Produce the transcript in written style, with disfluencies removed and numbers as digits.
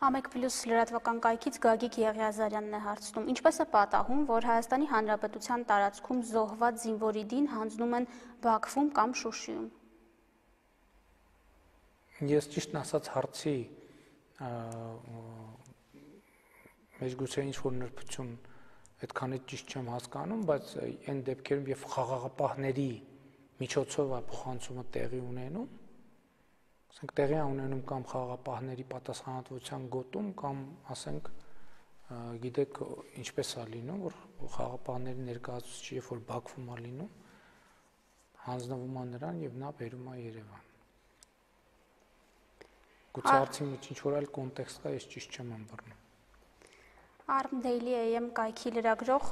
Ամեկ+ լրատվական կայքից Գագիկ Եղիազարյանն է հարցնում. ինչպես է պատահում, որ Հայաստանի Հանրապետության տարածքում զոհված զինվորի դին հանձնում են Բաքվում կամ Շուշիում։ Ես ճիշտն ասած հարցի մեջ գուցե ինչ-որ նրբություն այդքանից ճիշտ չեմ հասկանում, բայց այն դեպքերում, երբ խաղաղապահների միջոցով է փոխանցումը տեղի ունենում, ասենք տեղի է ունենում կամ խաղաղապահների պատասխանատվության գոտում, կամ ասենք գիտեք ինչպես է լինում, որ խաղաղապահների ներկայացուցիչը երբ որ Բաքվում է լինում, հանձնվում է նրան եւ նա բերում է Երևան։ Գուցե հարցի մեջ ինչ-որ այլ կոնտեքստ կա, ես ճիշտ չեմ ըմբռնում։ Arm Daily AM կայքի լրագրող